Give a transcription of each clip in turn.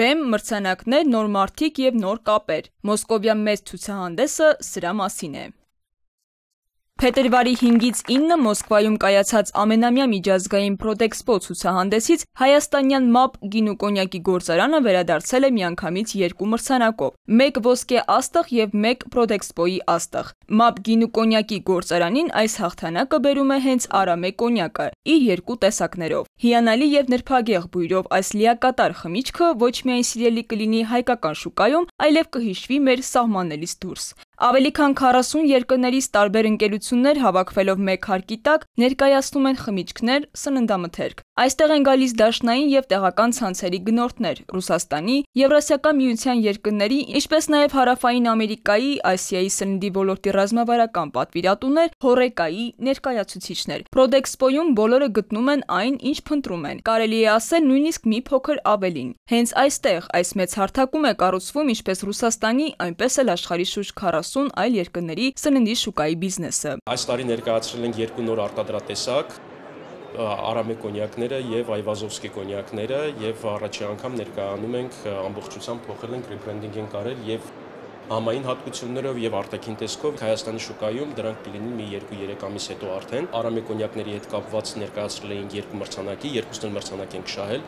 Բեմ, մրցանակներ, նոր մարդիկ և նոր կապեր։ Մոսկովյան մեծ ցուցահանդեսը սրա մասին է։ Փետրվարի 5-ից 9 Մոսկվայում կայացած ամենամյա միջազգային Պրոդեքսպո ցուցահանդեսից հայաստանյան ՄԱՊ գինու կոնյակի գործարանը վերադարձել է միանգամից 2 մրցանակով՝ 1 ոսկե աստղ և 1 Պրոդեքսպոյի աստղ։ ՄԱՊ գինու կոնյակի գործարանին այս հաղթանակը բերում է հենց Արամե կոնյակը՝ իր 2 տեսակներով։ Հիանալի և նրբագեղ բույրով այս լիակատար խմիչքը ոչ միայն սիրելի կլինի հայկական շուկայում, այլև կհիշվի մեր սահմաններից դուրս։ Ավելի քան 40 երկրներից տարբեր ընկերություններ հավաքվելով մեկ հարկի տակ ներկայացնում են խմիչքներ, սննդամթերք։ Այստեղ են գալիս դաշնային և տեղական ցանցերի գնորդներ, Ռուսաստանի, Եվրասիական միության երկրների, ինչպես նաև Հարավային Ամերիկայի, Ասիայի սննդի ոլորտի ռազմավարական պատվիրատուներ, Հոռեկայի ներկայացուցիչներ։ Պրոդեքսպոյում բոլորը գտնում են այն, ինչ փնտրում են, կարելի է ասել նույնիսկ մի փոքր ավելին։ Հենց այստեղ այս մեծ հարթակում է կառուցվում ինչպես Ռուսաստանի, այնպես էլ աշխարհի շուրջ 40 այլ երկրների սննդի շուկայի բիզնեսը։ Այս տարի ներկայացրել ենք 2 նոր արտադրատեսակ՝ Արամե կոնյակները եւ Այվազովսկի կոնյակները, եւ առաջին անգամ ներկայանում ենք ամբողջությամբ փոխել ենք ռեբրենդինգ ենք արել եւ համային հատկություններով եւ արտաքին տեսքով Հայաստանի շուկայում դրանք կլինեն մի 2-3 ամիս հետո արդեն։ Արամե կոնյակների հետ կապված ներկայացրել ենք 2 մրցանակի, 2 մրցանակ ենք շահել։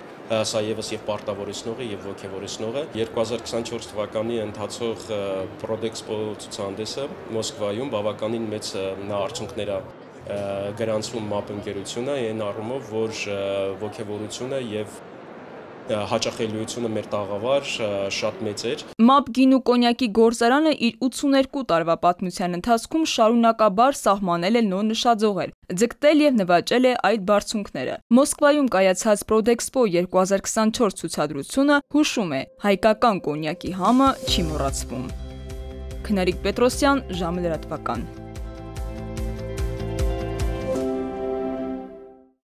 Սա եւս եւ պարտավորեցնող է եւ ոգեւորեցնող է։ 2024 թվականի ընթացող Պրոդեքսպո ցուցահանդեսը Մոսկվայում բավականին մեծ արդյունքներ է գրանցում ՄԱՊ ընկերությունը այն առումով, որ ոգևորությունը եւ հաճախելիությունը մեր տաղավար շատ մեծ էր։ ՄԱՊ գինու կոնյակի գործարանը իր 82 տարվա պատմության ընթացքում շարունակաբար սահմանել է նոր նշաձողեր, ձգտել եւ նվաճել է այդ բարձունքները։ Մոսկվայում կայացած Պրոդեքսպո 2024 ցուցադրությունը հուշում է՝ հայկական կոնյակի համը չի մոռացվում։ Քնարիկ Պետրոսյան, ժամը լրատվական։